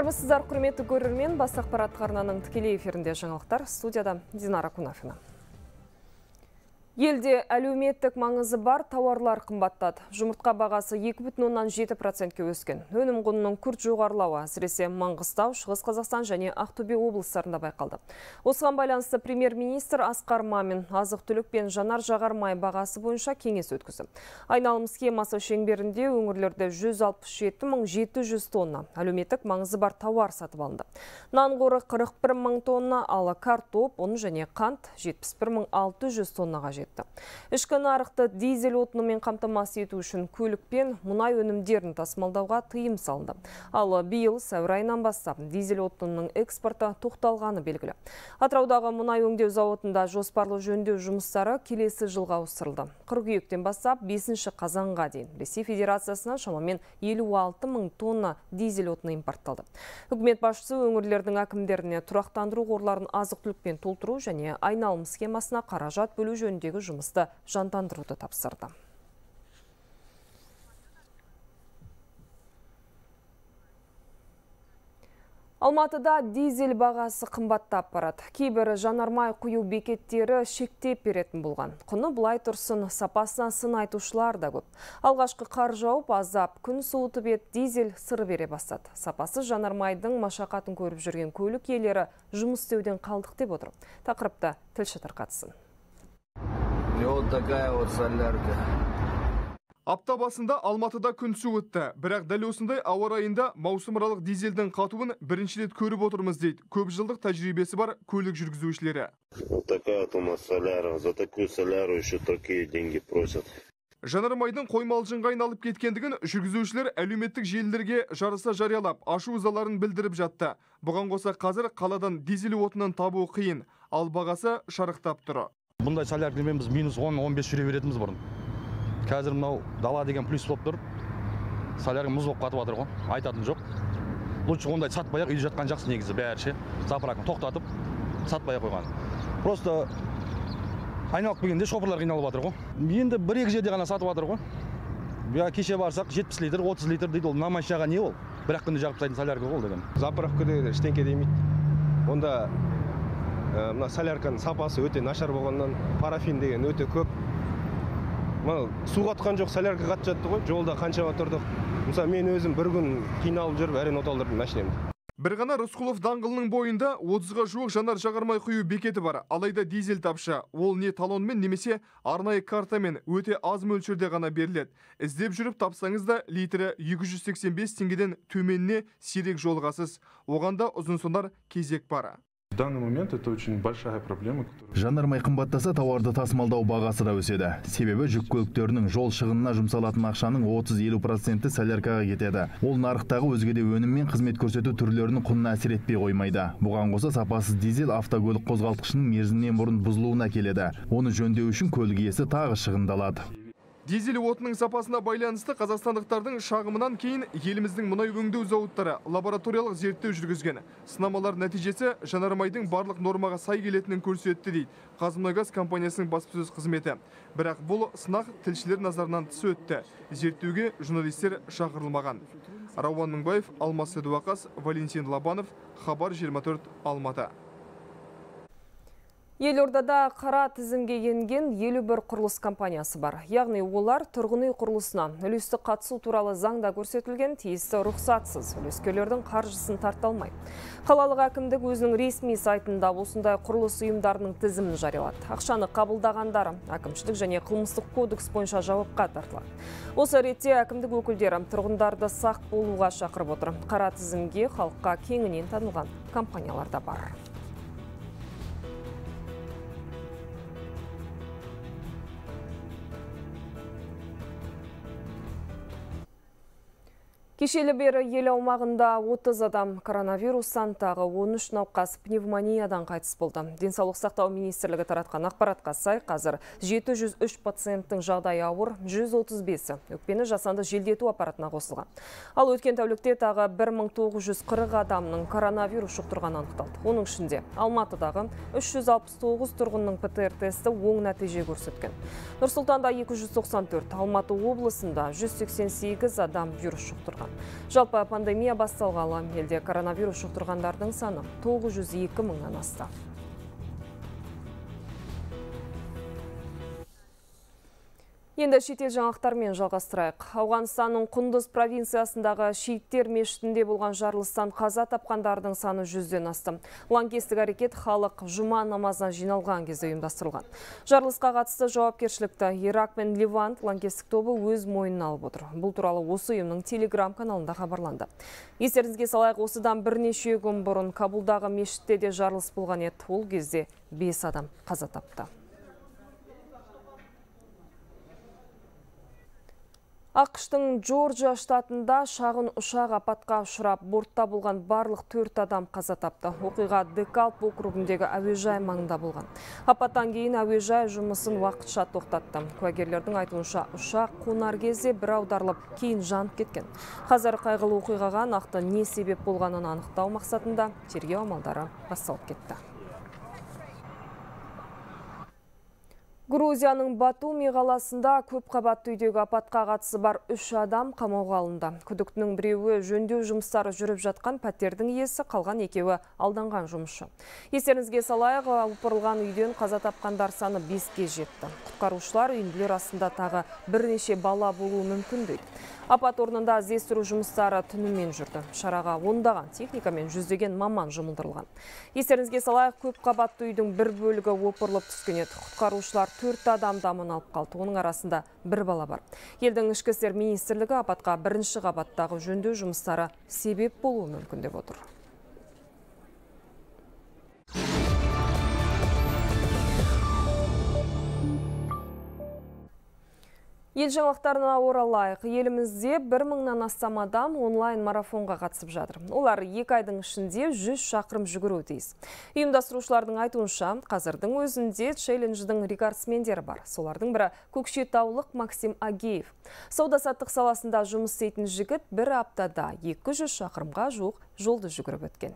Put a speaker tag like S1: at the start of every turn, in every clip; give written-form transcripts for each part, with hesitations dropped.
S1: Армысыздар, құрметті көрермен, бас ақпарат арнаның тікелей эфирінде жаңалықтар. Студияда Динара Кунафина. Елде әлеуметтік маңызы бар тауарлар қымбаттады. Жұмыртқа бағасы 2,7%-ке өскен. Өнім құнының күрт жоғарылауы әсіресе Маңғыстау, Шығыс Қазақстан және Ақтөбе облыстарында байқалды. Осыған байланысты премьер-министр Асқар Мамин азық-түлік пен жанар-жағармай бағасы бойынша кеңес өткізді. Айналым схемасы шеңберінде өңірлерде 167.700 тонна әлеуметтік маңызы бар тауар сатып алынды. Нан қоры 41.000 тонна, ал картоп, ұн және қант 71.600 тоннаға жетті. Ішкі нарықты дизель отынымен қамтамасыз ету үшін көлік пен мұнай өнімдерін тасымалдауға тыйым салынды. Ал биыл сәуір айынан бастап дизель отынының экспорты тоқталғаны белгілі. Атыраудағы мұнай өңдеу зауытында жоспарлы жөндеу жұмыстары келесі жылға ауыстырылды. Қыркүйектен бастап 5 қазанға дейін Ресей Федерациясынан шамамен 56.000 тонна дизель отыны импортталды. Үкімет басшысы өңірлердің әкімдеріне тұрақтандыру қорларын азық-түлікпен толтыру және айналым схемасына қаражат бөлу жөніндегі жұмысты жандандыруды тапсырды. Алматыда дизель бағасы қымбаттап барады. Кейбір жанармай құю бекеттері шектеп беретін болған. Құны бұлай тұрсын, сапасына сын айтушылар да көп. Алғашқы қар жауып, азап күн суытып ет, дизель сыр бере бастады. Сапасы жанармайдың машақатын көріп жүрген көлік иелері жұмыс істеуден қалдық деп отыр. Тақырыпты тілші тарқатсын.
S2: Вот такая вот солярка.
S3: Апта басында Алматыда күн суытты. Бірақ дәл осындай ауа райында маусымаралық дизельдің қатуын бірінші рет көріп отырмыз дейді көп жылдық тәжірибесі бар көлік жүргізушілері.
S4: Вот такая вот у нас соляра. За такую соляру еще такие деньги просят.
S3: Жанармайдың қоймалжыңға айналып кеткендігін жүргізушілер әлеуметтік желілерге жарыса жариялап, ашу ызаларын білдіріп жатты. Бұған қоса қазір қаладан дизель отынын табу қиын, ал бағасы шарықтап тұр.
S5: Бұндай соляркамен біз минус 10-15 жүре беретіміз бұрын. Қазір мынау дала деген плюс болып тұр. Солярка мұз болып қатып жатыр ғой. Айтатын жоқ. Лучше ондай сатпай-ақ үйде жатқан жақсы негізі бәрі ше. Заправканы тоқтатып сатпай-ақ қойған. Просто айналып келгенде шоферлар қиналып жатыр ғой. Енді 1-2 жерде ғана сатып жатыр ғой. Кеше барсақ 70 литр, 30 литр дейді. Ол намайшаға не ол? Бір-ақ күнде жағып тастайтын солярка ол деген.
S6: Заправка деген ештеңке демейді. Онда мына солярканың сапасы өте нашар болғаннан, парафин деген өте көп. Су қатқан жоқ, солярка қатып жатты ғой, жолда қаншама тұрдық. Мысалы, мен өзім бір күн қиналып жүріп, әрең оталдырдым машинемді.
S3: Бір ғана Рысқұлов даңғылының бойында 30-ға жуық жанар-жағармай құю бекеті бар. Алайда дизель тапшы. Ол не талонмен немесе арнайы картамен өте аз мөлшерде ғана беріледі. Іздеп жүріп тапсаңыз да литрі 285 теңгеден төменіне сирек жолғасыз. Оғанда ұзын-сонар кезек бар.
S7: В данный момент это очень большая проблема.
S8: Жанармай қымбаттаса, тауарды тасымалдау бағасы да өседі. Себебі жүк көліктерінің жол шығынына жұмсалатын ақшаның 30-50% соляркаға кетеді. Ол нарықтағы өзге де өнім мен қызмет көрсету түрлерінің құнына әсер етпей қоймайды. Бұған қоса сапасыз дизель автокөлік қозғалтқышының мерзімінен бұрын бұзылуына келеді. Оны жөндеу үшін көлік иесі тағы шығындалады.
S3: Дизель отынның сапасына байланысты қазақстандықтардың шағымынан кейін еліміздің мұнай өңдеу зауыттары лабораториялық зерттеу жүргізген. Сынамалар нәтижесі жанармайдың барлық нормаға сай келетінін көрсетті дейді Қазмұнайгаз компаниясының баспасөз қызметі. Бірақ бұл сынақ тілшілер назарынан тыс өтті. Зерттеуге журналистер шақырылмаған. Рауан Мыңбаев, Алмас Сәдуақас, Валентин Лабанов, Хабар 24, Алматы.
S1: Елордада қара тізімге енген 51 құрылыс компаниясы бар. Яғни олар тұрғын үй құрылысына үлесті қатысу туралы заңда көрсетілген тиісті рұқсатсыз үлескерлердің қаржысын тарта алмайды. Қалалық әкімдік өзінің ресми сайтында осындай құрылыс ұйымдарының тізімін жариялады. Ақшаны қабылдағандар әкімшілік және қылмыстық кодекс бойынша жауапқа тартылады. Осы ретте әкімдік өкілдері тұрғындарды сақ болуға шақырып отыр. Қара тізімге халыққа кеңінен танылған компаниялар да бар. Кешелі бері ел аумағында 30 адам коронавирустан, тағы 13 науқас пневмониядан қайтыс болды. Денсаулық сақтау министрлігі таратқан ақпаратқа сай, қазір 703 пациенттің жағдайы ауыр, 135-і өкпені жасанды желдету аппаратына қосылған. Ал өткен тәулікте тағы 1940 адамның коронавирус жұқтырғаны анықталды. Оның ішінде Алматыдағы 369 тұрғынның ПЦР тесті оң нәтиже көрсеткен. Нұр-Сұлтанда 294, Алматы облысында 188 адам вирус жұқтырған. Жалпы пандемия басталғалы елде коронавирус жұқтырғандардың саны 902 мыңнан асты. Енді шетел жаңалықтармен жалғастырайық. Ауғанстанның Құндыз провинциясындағы шииттер мешітінде болған жарылыстан қаза тапқандардың саны 100-ден асты. Лаңкестік әрекет халық жұма намазына жиналған кезде ұйымдастырылған. Жарылысқа қатысты жауапкершілікті Ирак пен Ливант лаңкестік тобы өз мойнына алып отыр. Бұл туралы осы ұйымның Телеграм каналында хабарланды. Естеріңізге салайық, осыдан бірнеше күн бұрын Кабулдағы мешітте де жарылыс болған еді. Ол кезде 5 адам қаза тапты. ақш-тың Джорджия штатында шағын ұшақ апатқа ұшырап, бортта болған барлық 4 адам қаза тапты. Оқиға Декалп округіндегі әуежай маңында болған. Апаттан кейін әуежай жұмысын уақытша тоқтатты. Куәгерлердің айтуынша ұшақ қонар кезде бір аударылып, кейін жанып кеткен. Қазір қайғылы оқиғаға нақты не себеп болғанын анықтау мақсатында тергеу амалдары басталып кетті. Грузияның Батуми қаласында көп қабатты үйдегі апатқа қатысы бар 3 адам қамауға алынды. Күдіктінің біреуі жөндеу жұмыстары жүріп жатқан пәтердің иесі, қалған екеуі алданған жұмысшы. Естеріңізге салайық, опырылған үйден қаза тапқандар саны 5-ке жетті. Құтқарушылар үйінділер астында тағы бірнеше бала болуы мүмкін дейді. Апат орнында іздестіру жұмыстары түнімен жүрді. Шараға ондаған техника мен жүздеген маман жұмылдырылған. Естеріңізге салайық, көп қабатты үйдің бір бөлігі опырылып түскен еді. Құтқарушылар 4 адамды аман алып қалды. Оның арасында 1 бала бар. Елдің ішкі істер министрлігі апатқа бірінші қабаттағы жөндеу жұмыстары себеп болуы мүмкін деп отыр. Ел жаңалықтарына оралайық. Елімізде 1000-нан астам адам онлайн марафонға қатысып жатыр. Олар 2 айдың ішінде 100 шақырым жүгіруі тиіс. Ұйымдастырушылардың айтуынша, қазірдің өзінде челлендждің рекордсмендері бар. Солардың бірі көкшетаулық Максим Агеев. Сауда-саттық саласында жұмыс істейтін жігіт бір аптада 200 шақырымға жуық жолды жүгіріп өткен.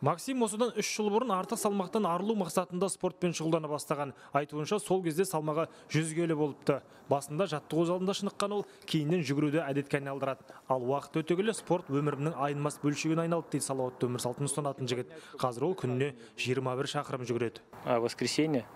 S9: Максим осыдан 3 жыл бұрын артық салмақтан арылу мақсатында спортпен шұғылдана бастаған. Айтуынша, сол кезде салмағы 100 келі болыпты. Басында жаттығу залында шыныққан ол, кейіннен жүгіруді әдетке айналдырады. Ал уақыт өте келе спорт өмірімнің айнымас бөлшегіне айналды дейді салауатты өмір салтын ұстанатын жігіт. Қазір ол күніне 21 шақырым жүгіреді.
S10: Воскресенье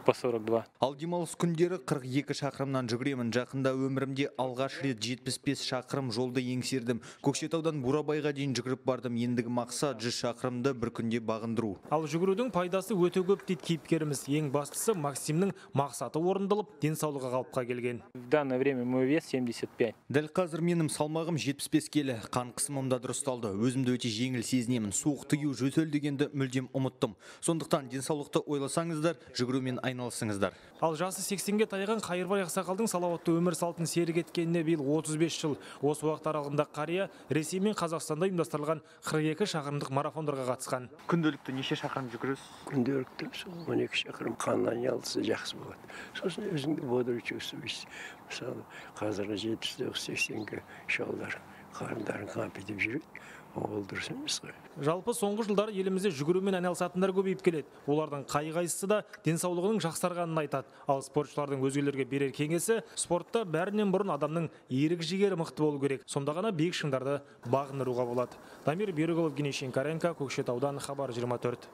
S10: по 42.
S11: Ал демалыс күндері 42 шақырымнан жүгіремін. Жақында өмірімде алғаш рет 75 шақырым жолды еңсердім. Көкшетаудан Бурабайға дейін жүгіріп бардым. Ендігі мақсат 100 шақырымды бір күнде бағындыру.
S9: Ал жүгірудің пайдасы өте көп дейді кейіпкеріміз. Ең бастысы Максимнің мақсаты орындалып, денсаулығы қалыпқа келген.
S10: В данное время мой вес 75.
S11: Дәл қазір менің салмағым 75 келі. Қан қысымым да дұрысталды. Өзімді өте жеңіл сезінемін. Суық тыю, жөтел дегенді мүлдем ұмыттым. Сондықтан денсаулықты ойласаңыздар, жүгірумен айналысыңыздар.
S9: Ал жасы 80-ге таяған Қайырбай ақсақалдың салауатты өмір салтын серік еткеніне биыл 35 жыл. Осы уақыт аралығында қария Ресей мен Қазақстанда ұйымдастырылған 42 шақырымдық марафондарға қатысқан.
S12: Күнделікті неше шақырым жүгіресіз?
S13: Күнделікті 12 шақырым қан айналысы жақсы болады. Сосын өзіңді бодырып чувствуйсыз. Мысалы, қазіргі 70-80-ге шалдар қарындарын қампетіп жүреді. Ол дұрыс емес қой.
S9: Жалпы соңғы жылдары елімізде жүгірумен айналысатындар көбейіп келеді. Олардың қай-қайсысы да денсаулығының жақсарғанын айтады. Ал спортшылардың өзгелерге берер кеңесі, спортта бәрінен бұрын адамның ерік жігері мықты болу керек. Сонда ғана биік шыңдарды бағындыруға болады. Дамир Берікұлы, Евгений Шинкаренко, Көкшетаудан, Хабар 24.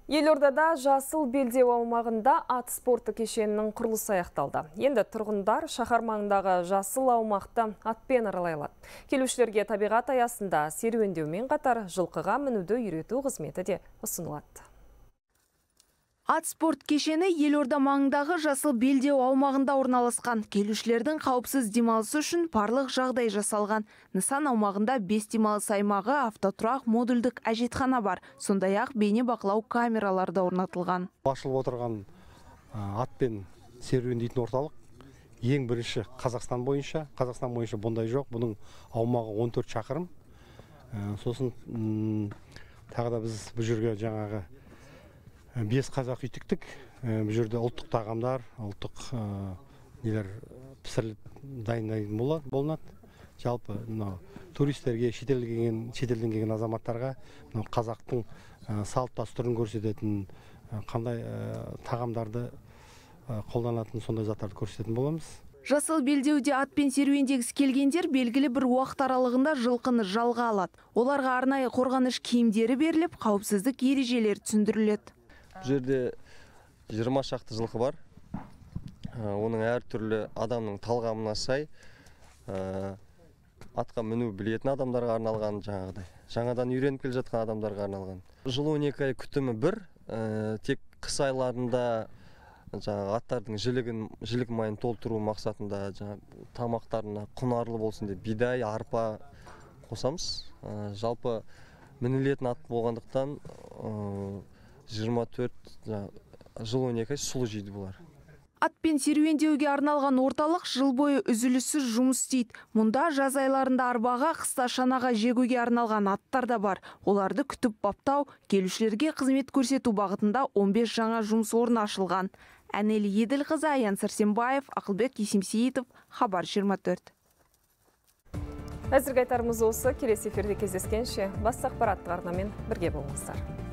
S1: Елордада жасыл белдеу аумағында ат спорты кешенінің құрылысы аяқталды. Енді тұрғындар шаһар маңындағы жасыл аумақты атпен аралай алады. Келушілерге табиғат аясында серуендеумен қатар жылқыға мінуді үйрету қызметі де ұсынылады.
S14: Ат спорт кешені Елорда маңындағы жасыл белдеу аумағында орналасқан. Келушілердің қауіпсіз демалысы үшін барлық жағдай жасалған. Нысан аумағында 5 демалыс аймағы, автотұрақ, модульдік әжетхана бар. Сондай-ақ бейне бақылау камералары орнатылған.
S15: Ашылып отырған атпен серуендейтін орталық ең бірінші Қазақстан бойынша бұндай жоқ. Бұның аумағы 14 шақырым. Сосын тағы да біз бұл жерге жаңағы 5 қазақ үй тіктік. Бұл жерде ұлттық тағамдар, ұлттық нелер пісіріліп дайындайтын болынады. Жалпы туристерге, шетелден келген азаматтарға қазақтың салт дәстүрін көрсететін, қандай тағамдарды қолданатын сондай заттарды көрсететін боламыз.
S14: Жасыл белдеуде атпен серуендегісі келгендер белгілі бір уақыт аралығында жылқыны жалға алады. Оларға арнайы қорғаныш киімдері беріліп, қауіпсіздік ережелері түсіндіріледі.
S16: Бұл жерде 20 шақты жылқы бар. Оның әртүрлі адамның талғамына сай атқа міну білетін адамдарға арналған, жаңадан үйреніп келе жатқан адамдарға арналған. Жыл 12 ай күтімі бір, тек қыс айларында аттардың жілік майын толтыру мақсатында тамақтарына құнарлы болсын деп бидай, арпа қосамыз. Жалпы мінілетін ат болғандықтан 24 жыл 12 ай сұлы жейді бұлар.
S14: Атпен серуендеуге арналған орталық жыл бойы үзіліссіз жұмыс істейді. Мұнда жаз айларында арбаға, қыста шанаға жегуге арналған аттар да бар. Оларды күтіп баптау, келушілерге қызмет көрсету бағытында 15 жаңа жұмыс орны ашылған. Әнел Еділқызы, Аян Сәрсенбаев, Ақылбек Есемсейітов, Хабар 24.
S1: Әзірге айтарымыз осы. Келесі эфирде кездескенше басқа ақпараттық арнамен бірге болыңыздар.